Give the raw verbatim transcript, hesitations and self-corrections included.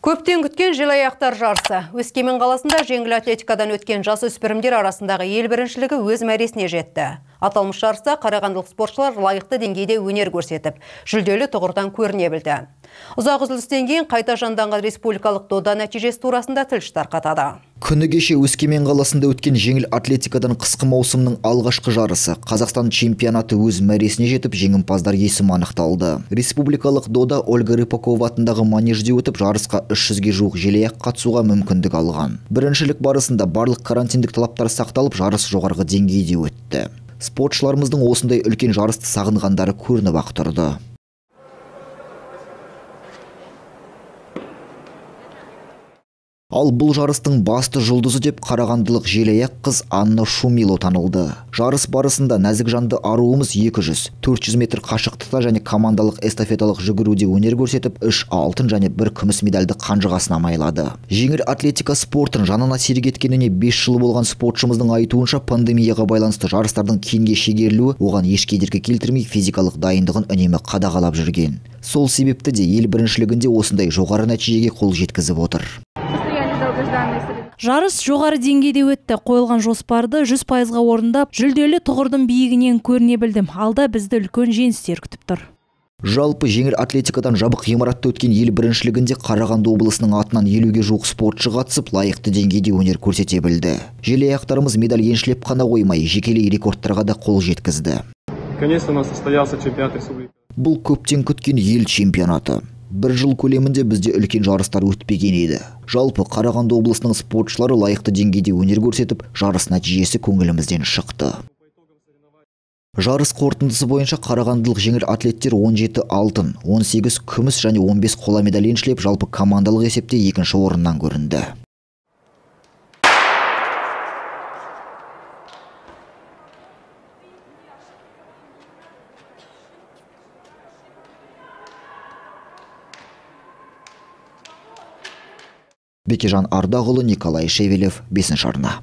Көптен күткен желаяқтар жарысы. Өскемен қаласында жеңіл атлетикадан өткен жасөспірімдер арасындағы ел біріншілігі өз мәресіне жетті. Аталмыш жарыста қарағандылық спортшылар лайықты деңгейде өнер көрсетіп, жүлделі тұғырдан көріне білді. Ұзақ үзілістен кейін қайта жанданған республикалық дода нәтижесі турасында тілші тарқатады. Күні кеше Өскемен қаласында өткен жеңіл атлетикадан қысқы маусымның алғашқы жарысы Қазақстан чемпионаты өз мәресіне жетіп, жеңімпаздар есімі анықталды. Республикалық дода Ольга Рыпакова атындағы манежде өтіп, жарысқа үш жүзге жуық желаяқ қатысуға мүмкіндік алған. Біріншілік барысында барлық карантиндік талаптар сақталып, жарыс жоғарғы деңгейде өтті. Спортшыларымыздың осындай үлкен жарысты сағынғандары көрініп ақ тұрды. Ал бұл жарыстың басты жұлдызы деп қарағандылық желаяқ қыз Анна Шумило танылды. Жарыс барысында нәзік жанды аруымыз екі жүз, төрт жүз метр қашықтықта және командалық эстафеталық жүгіруде өнер көрсетіп, үш алтын және бір күміс медальді қанжығасына майлады. Жеңіл атлетика спортын жанына серік еткеніне бес жыл болған спортшымыздың айтуынша, пандемияға байланысты жарыстардың кейінге шегерілуі оған еш кедергі келтірмей физикалық дайындығын үнемі қадағалап жүрген. Сол себепті де ел біріншілігінде осындай жоғары нәтижеге қол жеткізіп отыр. Жарыс жоғары деңгейде өтті. Қойылған жоспарды жүз пайызға орындап, жүлделі тұғырдың биігінен көріне білдім. Алда бізді үлкен жеңістер күтіп тұр. Жалпы жеңіл атлетикадан жабық ғимаратта өткен ел біріншілігінде Қарағанды облысының атынан елуге жуық спортшы қатысып, лайықты деңгейде өнер көрсете білді. Желаяқтарымыз медаль еншілеп қана қоймай, жекелей рекордтарға да қол жеткізді. Бұл көптен күткен ел чемпионаты. Бір жыл көлемінде бізде үлкен жарыстар өтпеген еді. Жалпы Қарағанды облысының спортшылары лайықты деңгейде өнер көрсетіп, жарыс нәтижесі көңілімізден шықты. Жарыс қорытындысы бойынша қарағандылық жеңіл атлеттер он жеті алтын, он сегіз күміс және он бес қола медаль еншілеп, жалпы командалық есепте екінші орыннан көрінді. Бекежан Ардағұлы, Николай Шевелев, бесінші арна.